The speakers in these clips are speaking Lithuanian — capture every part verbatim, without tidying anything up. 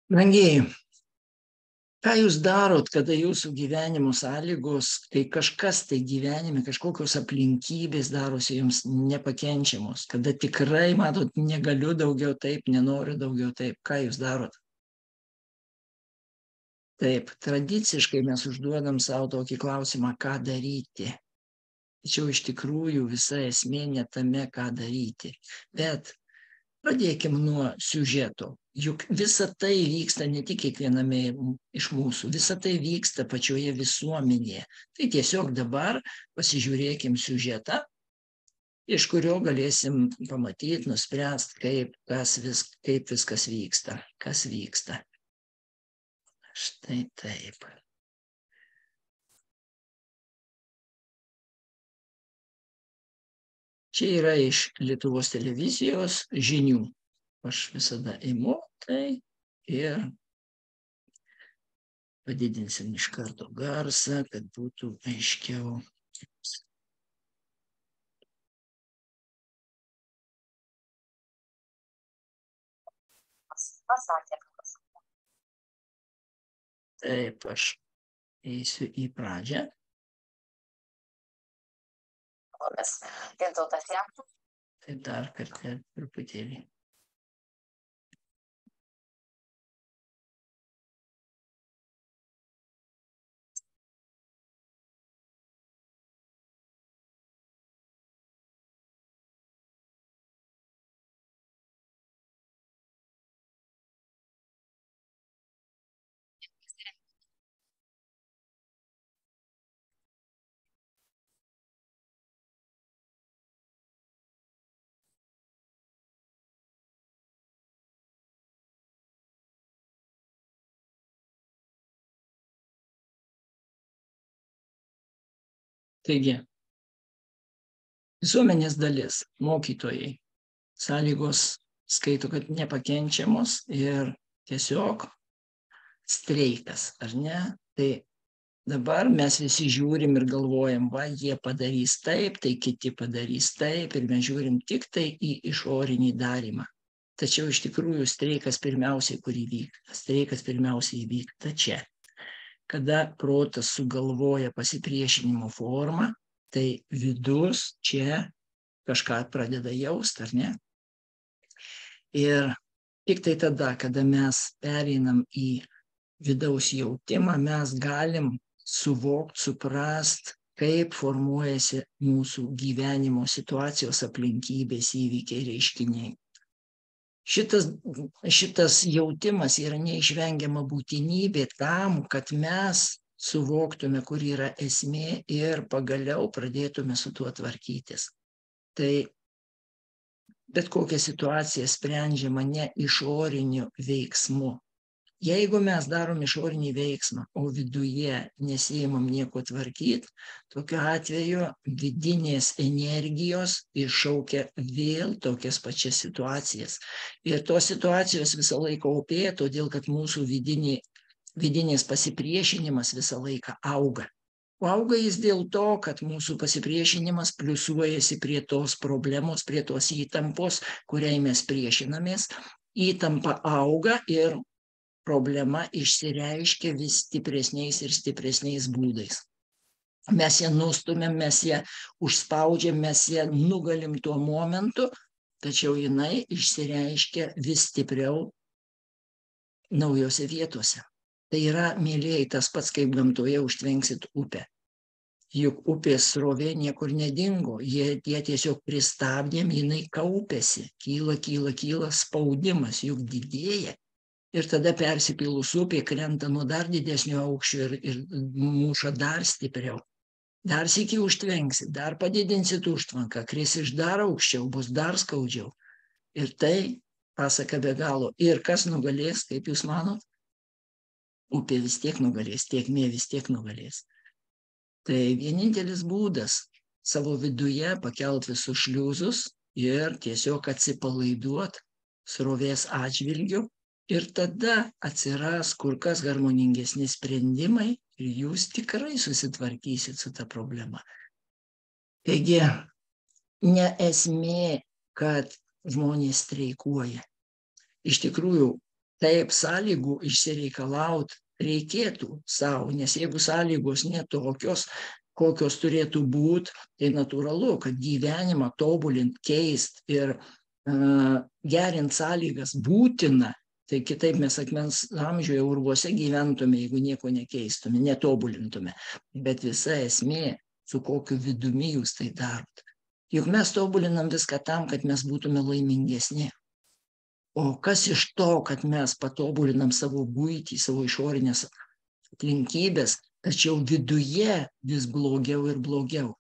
Brangieji, ką jūs darot, kada jūsų gyvenimo sąlygos, kai kažkas tai gyvenime, kažkokios aplinkybės darosi jums nepakenčiamos, kada tikrai, matot, negaliu daugiau taip, nenoriu daugiau taip, ką jūs darot? Taip, tradiciškai mes užduodam savo tokį klausimą, ką daryti. Tačiau iš tikrųjų visa esmė ne tame, ką daryti. Bet pradėkim nuo siužeto. Juk visa tai vyksta ne tik kiekviename iš mūsų, visa tai vyksta pačioje visuomenėje. Tai tiesiog dabar pasižiūrėkim siužetą, iš kurio galėsim pamatyti, nuspręsti, kaip, kas vis, kaip viskas vyksta, kas vyksta. Štai taip. Čia yra iš Lietuvos televizijos žinių. Aš visada imu tai ir padidinsim iš karto garsą, kad būtų aiškiau. Taip, aš eisiu į pradžią. Tai dar kartą truputėlį. Taigi, visuomenės dalis, mokytojai, sąlygos skaito, kad nepakenčiamos ir tiesiog streikas, ar ne? Tai dabar mes visi žiūrim ir galvojam, va, jie padarys taip, tai kiti padarys taip, ir mes žiūrim tik tai į išorinį darymą. Tačiau iš tikrųjų streikas pirmiausiai, kur įvyksta. Streikas pirmiausiai įvyksta čia. Kada protas sugalvoja pasipriešinimo formą, tai vidus čia kažką pradeda jausti, ar ne? Ir tik tai tada, kada mes pereinam į vidaus jautimą, mes galim suvokti, suprast, kaip formuojasi mūsų gyvenimo situacijos, aplinkybės, įvykiai, reiškiniai. Šitas, šitas jautimas yra neišvengiama būtinybė tam, kad mes suvoktume, kur yra esmė ir pagaliau pradėtume su tuo tvarkytis. Tai bet kokia situacija sprendžiama ne išoriniu veiksmu. Jeigu mes darom išorinį veiksmą, o viduje nesiimam nieko tvarkyti, tokiu atveju vidinės energijos iššaukia vėl tokias pačias situacijas. Ir tos situacijos visą laiką opėja, todėl kad mūsų vidinė, vidinės pasipriešinimas visą laiką auga. O auga jis dėl to, kad mūsų pasipriešinimas pliusuojasi prie tos problemos, prie tos įtampos, kuriai mes priešinamės. Įtampa auga ir problema išsireiškia vis stipresniais ir stipresniais būdais. Mes ją nustumėm, mes ją užspaudžiam, mes ją nugalim tuo momentu, tačiau jinai išsireiškia vis stipriau naujose vietose. Tai yra, mėlyjei, tas pats, kaip gamtoje užtvenksit upę. Juk upės srovė niekur nedingo, jie, jie tiesiog pristabdėm, jinai kaupėsi, kyla, kyla, kyla, spaudimas juk didėja. Ir tada persipylus upė krenta nuo dar didesnio aukščio ir, ir muša dar stipriau. Dar sykį užtvenksit, dar padidinsit užtvanką, kris iš dar aukščiau, bus dar skaudžiau. Ir tai pasaka be galo. Ir kas nugalės, kaip jūs manot? Upė vis tiek nugalės, tėkmė vis tiek nugalės. Tai vienintelis būdas savo viduje pakelt visus šliuzus ir tiesiog atsipalaiduot srovės atžvilgiu. Ir tada atsiras kur kas harmoningesni sprendimai ir jūs tikrai susitvarkysit su ta problema. Taigi, ne esmė, kad žmonės streikuoja. Iš tikrųjų, Taip, sąlygų išsireikalaut reikėtų savo, nes jeigu sąlygos netokios, kokios turėtų būti, tai natūralu, kad gyvenimą tobulint, keist ir uh, gerint sąlygas būtina, tai kitaip mes akmens amžiuje urvuose gyventume, jeigu nieko nekeistume, netobulintume. Bet visa esmė, su kokiu vidumi jūs tai darot. Juk mes tobulinam viską tam, kad mes būtume laimingesni. O kas iš to, kad mes patobulinam savo buitį, savo išorinės aplinkybės, tačiau viduje vis blogiau ir blogiau.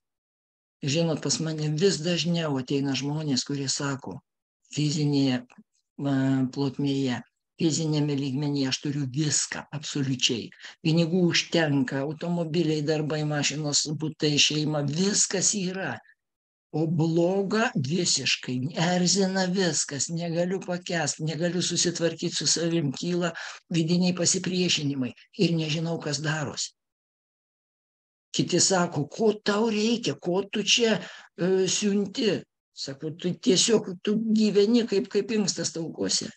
Žinot, pas mane vis dažniau ateina žmonės, kurie sako, fizinėje plotmėje, fizinėme lygmenyje aš turiu viską, absoliučiai. Pinigų užtenka, automobiliai, darbai, mašinos, butai, šeima, viskas yra. O bloga visiškai, erzina viskas, negaliu pakęsti, negaliu susitvarkyti su savim, kyla vidiniai pasipriešinimai ir nežinau, kas darosi. Kiti sako, ko tau reikia, ko tu čia e, siunti. Sako, tu tiesiog tu gyveni kaip, kaip inkstas taukuose.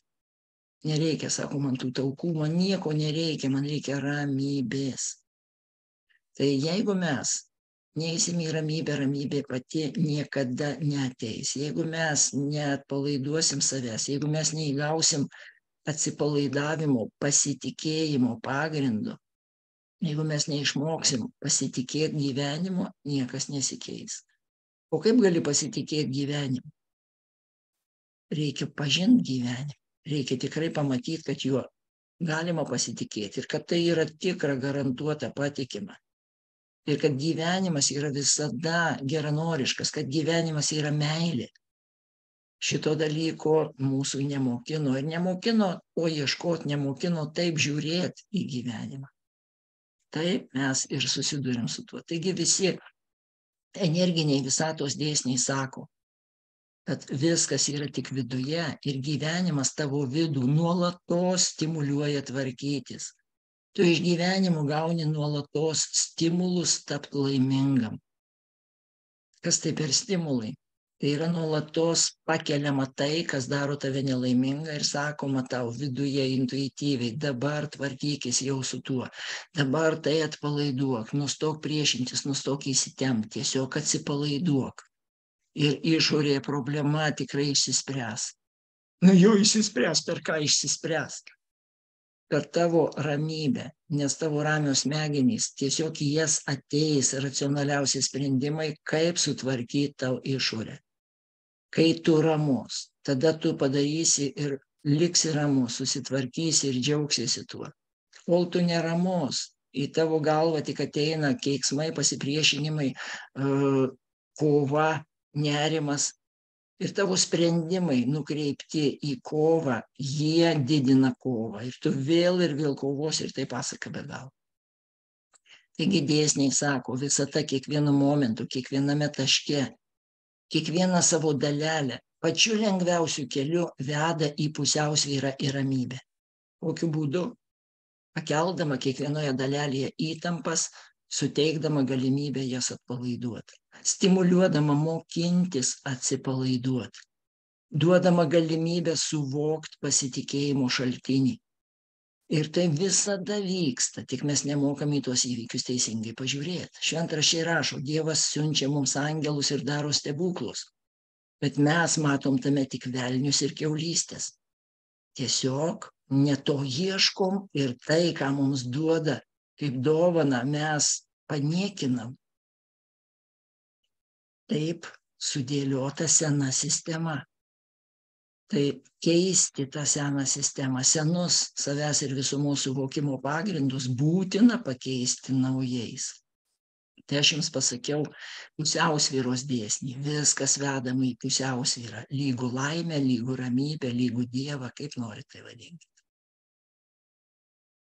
Nereikia, sako, man tų taukų, man nieko nereikia, man reikia ramybės. Tai jeigu mes neįsim į ramybę, ramybė pati niekada neateis. Jeigu mes neatpalaiduosim savęs, jeigu mes neįgausim atsipalaidavimo, pasitikėjimo pagrindu, jeigu mes neišmoksim pasitikėti gyvenimu, niekas nesikeis. O kaip gali pasitikėti gyvenimu? Reikia pažinti gyvenimą. Reikia tikrai pamatyti, kad juo galima pasitikėti ir kad tai yra tikra, garantuota, patikima. Ir kad gyvenimas yra visada geranoriškas, kad gyvenimas yra meilė. Šito dalyko mūsų nemokino ir nemokino, o ieškoti nemokino taip žiūrėti į gyvenimą. Taip mes ir susidurim su tuo. Taigi visi energiniai visatos dėsniai sako, kad viskas yra tik viduje ir gyvenimas tavo vidų nuolatos stimuliuoja tvarkytis. Tu iš gyvenimo gauni nuolatos stimulus tapti laimingam. Kas tai per stimulai? Tai yra nuolatos pakeliama tai, kas daro tave nelaimingą ir sakoma tau viduje intuityviai, dabar tvarkykis jau su tuo, dabar tai atpalaiduok, nustok priešintis, nustok įsitemti, tiesiog atsipalaiduok. Ir išorėje problema tikrai išsispręs. Nu jau išsispręs, per ką išsispręs? Per tavo ramybę, nes tavo ramios smegenys tiesiog į jas ateis racionaliausi sprendimai, kaip sutvarkyti tau išorę. Kai tu ramus, tada tu padarysi ir liksi ramus, susitvarkysi ir džiaugsiesi tuo. Kol tu neramus, į tavo galvą tik ateina keiksmai, pasipriešinimai, kova, nerimas. Ir tavo sprendimai nukreipti į kovą, jie didina kovą. Ir tu vėl ir vėl kovos ir tai pasaka be galo. Taigi dėsniai sako, visata kiekvienu momentu, kiekviename taške, kiekvieną savo dalelę, pačiu lengviausiu keliu veda į pusiausvyrą ir ramybę. Kokiu būdu? Pakeldama kiekvienoje dalelėje įtampas, suteikdama galimybę jas atpalaiduoti. Stimuliuodama mokintis atsipalaiduoti, duodama galimybę suvokti pasitikėjimo šaltinį. Ir tai visada vyksta, tik mes nemokam į tuos įvykius teisingai pažiūrėti. Šventraščiai rašo, Dievas siunčia mums angelus ir daro stebuklus, bet mes matom tame tik velnius ir kiaulystės. Tiesiog ne to ieškom ir tai, ką mums duoda kaip dovana, mes paniekinam. Taip sudėliota sena sistema. Tai keisti tą seną sistemą, senus savęs ir visumos suvokimo pagrindus būtina pakeisti naujais. Tai aš jums pasakiau pusiausvyros dėsnį. Viskas vedama į pusiausvyrą. Lygų laimę, lygų ramybę, lygų Dievą, kaip norit tai vadinkite.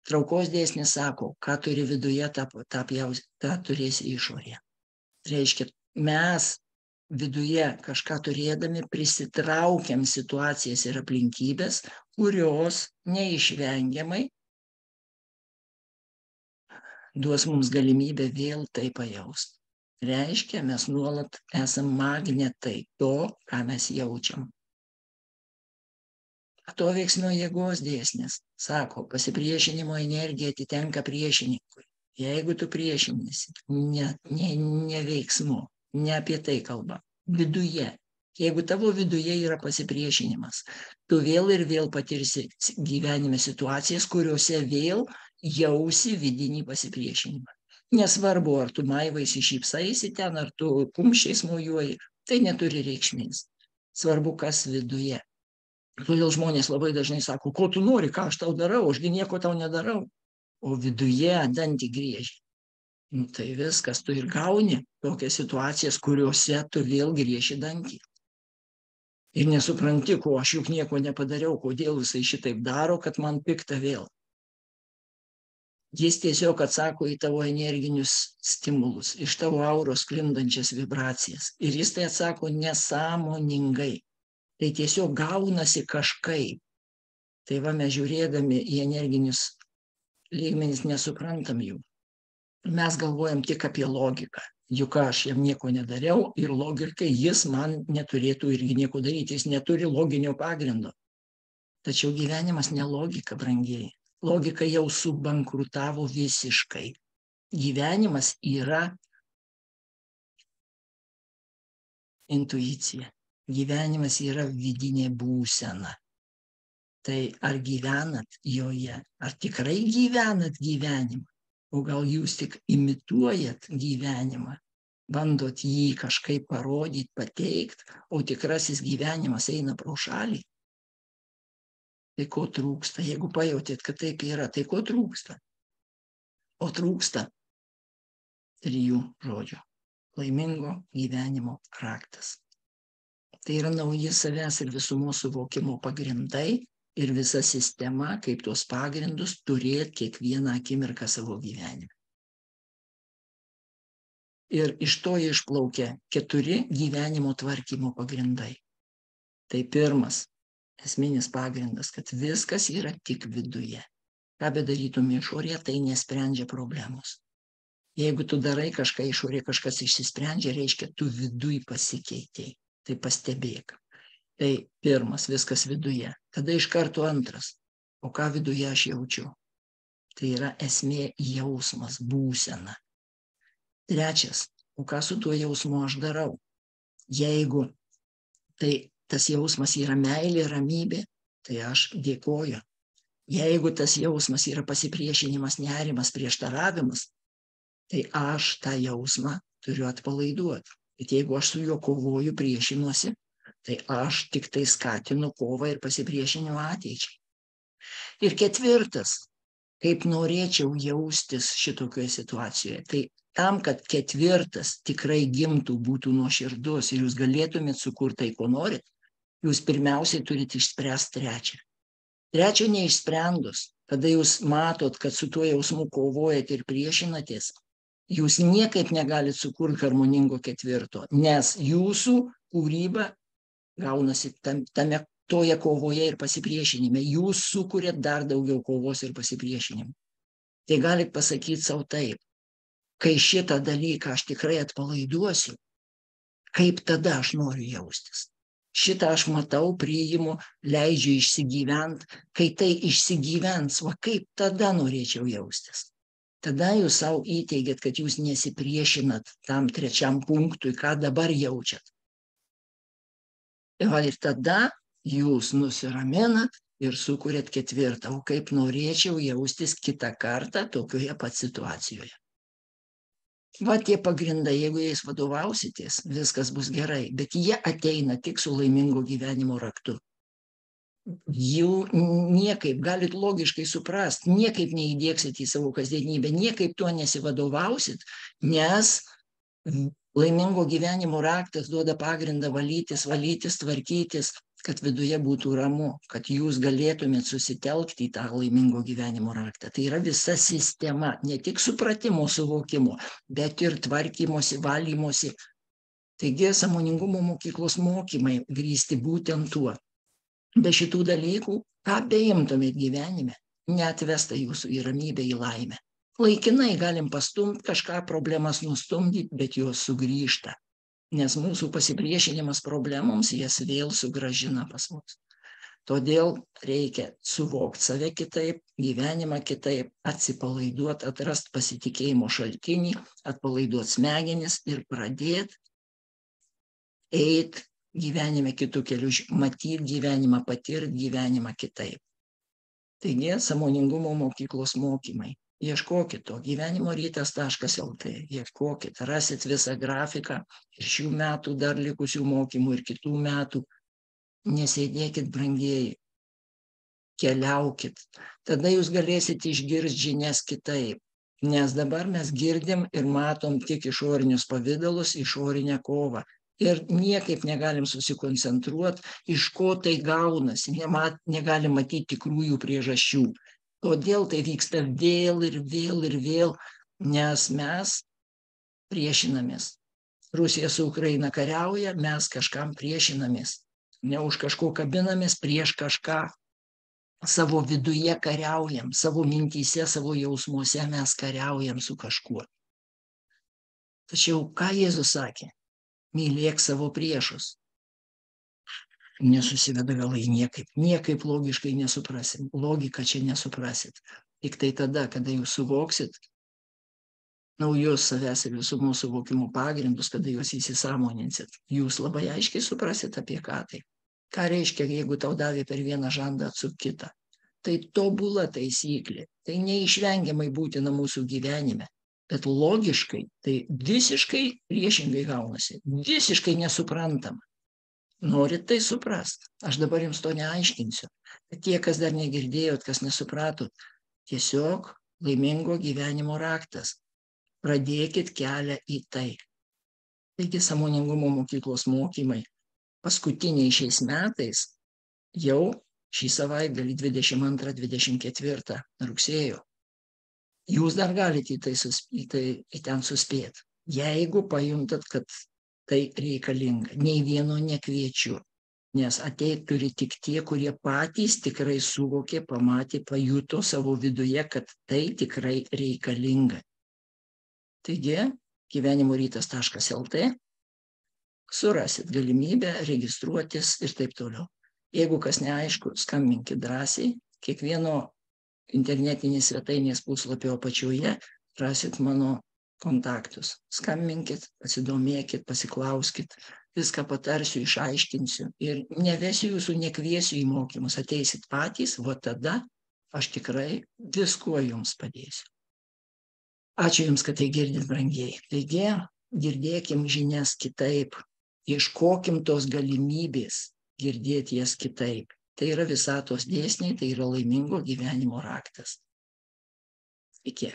Traukos dėsnis sako, ką turi viduje, tą, tą, pjaus, tą turėsi išorėje. Reiškia, mes viduje kažką turėdami prisitraukiam situacijas ir aplinkybės, kurios neišvengiamai duos mums galimybę vėl tai pajausti. Reiškia, mes nuolat esam magnetai to, ką mes jaučiam. Atoveiksmio jėgos dėsnis sako, pasipriešinimo energija atitenka priešininkui. Jeigu tu priešiniesi, ne, ne, ne veiksmu, ne apie tai kalba, viduje. Jeigu tavo viduje yra pasipriešinimas, tu vėl ir vėl patirsi gyvenime situacijas, kuriuose vėl jausi vidinį pasipriešinimą. Nesvarbu, ar tu maivaisi šypsaisi ten, ar tu kumščiais mojuoji, tai neturi reikšmės. Svarbu, kas viduje. Todėl žmonės labai dažnai sako, ko tu nori, ką aš tau darau, ašgi nieko tau nedarau. O viduje dantį griežia. Nu, tai viskas, tu ir gauni tokias situacijas, kuriuose tu vėl grieži dantį. Ir nesupranti, ko aš juk nieko nepadariau, kodėl jisai šitaip daro, kad man pikta vėl. Jis tiesiog atsako į tavo energinius stimulus, iš tavo auros sklindančias vibracijas. Ir jis tai atsako nesąmoningai. Tai tiesiog gaunasi kažkaip. Tai va mes žiūrėdami į energinius lygmenis nesuprantam jų. Mes galvojam tik apie logiką. Juk aš jam nieko nedariau ir logiškai jis man neturėtų irgi nieko daryti. Jis neturi loginio pagrindo. Tačiau gyvenimas ne logika, brangieji. Logika jau subankrutavo visiškai. Gyvenimas yra intuicija. Gyvenimas yra vidinė būsena. Tai ar gyvenat joje? Ar tikrai gyvenat gyvenimą? O gal jūs tik imituojat gyvenimą? Bandot jį kažkaip parodyti, pateikti, o tikrasis gyvenimas eina pro šalį? Tai ko trūksta? Jeigu pajautėt, kad taip yra, tai ko trūksta? O trūksta trijų žodžių. Laimingo gyvenimo raktas. Tai yra nauji savęs ir visumos suvokimo pagrindai ir visa sistema, kaip tuos pagrindus turėti kiekvieną akimirką savo gyvenime. Ir iš to išplaukia keturi gyvenimo tvarkymo pagrindai. Tai pirmas, esminis pagrindas, kad viskas yra tik viduje. Ką bedarytum išorėje, tai nesprendžia problemos. Jeigu tu darai kažką išorėje, kažkas išsisprendžia, reiškia, tu viduj pasikeitei. Tai pastebėk. Tai pirmas, viskas viduje. Tada iš karto antras. O ką viduje aš jaučiu? Tai yra esmė jausmas, būsena. Trečias, o ką su tuo jausmu aš darau? Jeigu tai tas jausmas yra meilė, ramybė, tai aš dėkoju. Jeigu tas jausmas yra pasipriešinimas, nerimas, prieštaravimas, tai aš tą jausmą turiu atpalaiduoti. Bet jeigu aš su juo kovoju, priešinuosi, tai aš tik tai skatinu kovą ir pasipriešinimą ateičiai. Ir ketvirtas, kaip norėčiau jaustis šitokioje situacijoje. Tai tam, kad ketvirtas tikrai gimtų, būtų nuoširdus ir jūs galėtumėt sukurti tai, ko norit, jūs pirmiausiai turite išspręsti trečią. Trečio neišsprendus, kada jūs matot, kad su tuo jausmu kovojat ir priešinatės, jūs niekaip negalit sukurti harmoningo ketvirto, nes jūsų kūryba gaunasi tam, tame toje kovoje ir pasipriešinime. Jūs sukuriat dar daugiau kovos ir pasipriešinimų. Tai galit pasakyti savo taip, kai šitą dalyką aš tikrai atpalaiduosiu, kaip tada aš noriu jaustis. Šitą aš matau, priimu, leidžiu išsigyvent, kai tai išsigyvens, va kaip tada norėčiau jaustis. Tada jūs savo įteigiat, kad jūs nesipriešinat tam trečiam punktui, ką dabar jaučiat. Ir tada jūs nusiraminat ir sukuriat ketvirtą, o kaip norėčiau jaustis kitą kartą tokioje pat situacijoje. Va tie pagrindai, jeigu jais vadovausitės, viskas bus gerai, bet jie ateina tik su laimingo gyvenimo raktu. Jų niekaip, galit logiškai suprast, niekaip neįdieksit į savo kasdienybę, niekaip tuo nesivadovausit, nes laimingo gyvenimo raktas duoda pagrindą valytis, valytis, tvarkytis, kad viduje būtų ramu, kad jūs galėtumėt susitelkti į tą laimingo gyvenimo raktą. Tai yra visa sistema, ne tik supratimo, suvokimo, bet ir tvarkymosi, valymosi. Taigi, sąmoningumo mokyklos mokymai grįsti būtent tuo. Be šitų dalykų, ką beimtumėt gyvenime, neatvesta jūsų į ramybę, į laimę. Laikinai galim pastumti kažką, problemas nustumdyti, bet jos sugrįžta. Nes mūsų pasipriešinimas problemoms jas vėl sugrąžina pas mus. Todėl reikia suvokti save kitaip, gyvenimą kitaip, atsipalaiduoti, atrasti pasitikėjimo šaltinį, atpalaiduoti smegenis ir pradėti eiti gyvenime kitų kelių, matyti gyvenimą, patirti gyvenimą kitaip. Taigi, sąmoningumo mokyklos mokymai. Ieškokit to, gyvenimo rytas taškas el tė, ieškokit, rasit visą grafiką ir šių metų dar likusių mokymų ir kitų metų. Nesėdėkit, brangieji, keliaukit. Tada jūs galėsit išgirsti žinias kitaip, nes dabar mes girdim ir matom tik išorinius pavydalus, išorinę kovą. Ir niekaip negalim susikoncentruoti, iš ko tai gaunasi, nemat, negalim matyti tikrųjų priežasčių. Todėl tai vyksta vėl ir vėl ir vėl, nes mes priešinamės. Rusija su Ukraina kariauja, mes kažkam priešinamės. Ne už kažko kabinamės, prieš kažką. Savo viduje kariaujam, savo mintyse, savo jausmuose mes kariaujam su kažkuo. Tačiau ką Jėzus sakė? Mylėk savo priešus. Nesusiveda galai niekaip. Niekaip logiškai nesuprasim. Logiką čia nesuprasit. Tik tai tada, kada jūs suvoksit naujus savęs ir visumos suvokimo pagrindus, kada jūs įsisąmoninsit, jūs labai aiškiai suprasit apie ką tai. Ką reiškia, jeigu tau davė per vieną žandą atsuk kitą. Tai tobula taisyklė. Tai neišvengiamai būtina mūsų gyvenime. Bet logiškai tai visiškai priešingai gaunasi. Visiškai nesuprantama. Norit tai suprast. Aš dabar jums to neaiškinsiu. Bet tie, kas dar negirdėjot, kas nesupratot, tiesiog laimingo gyvenimo raktas. Pradėkit kelią į tai. Taigi sąmoningumo mokyklos mokymai paskutiniai šiais metais jau šį savaitgalį dvidešimt antrą dvidešimt ketvirtą rugsėjo. Jūs dar galite į tai, į tai į ten suspėti. Jeigu pajuntat, kad tai reikalinga, nei vieno nekviečiu, nes ateit turi tik tie, kurie patys tikrai suvokė, pamatė, pajuto savo viduje, kad tai tikrai reikalinga. Taigi, gyvenimo rytas taškas el tė, surasit galimybę registruotis ir taip toliau. Jeigu kas neaišku, skambinkit drąsiai, kiekvieno internetinės svetainės puslapio apačioje rasit mano kontaktus. Skambinkit, pasidomėkit, pasiklauskit, viską patarsiu, išaiškinsiu ir nevesiu jūsų, nekviesiu į mokymus, ateisit patys, o tada aš tikrai viskuo jums padėsiu. Ačiū jums, kad tai girdit, brangieji. Taigi, girdėkim žinias kitaip, ieškokim tos galimybės girdėti jas kitaip. Tai yra visatos dėsniai, tai yra laimingo gyvenimo raktas. Iki.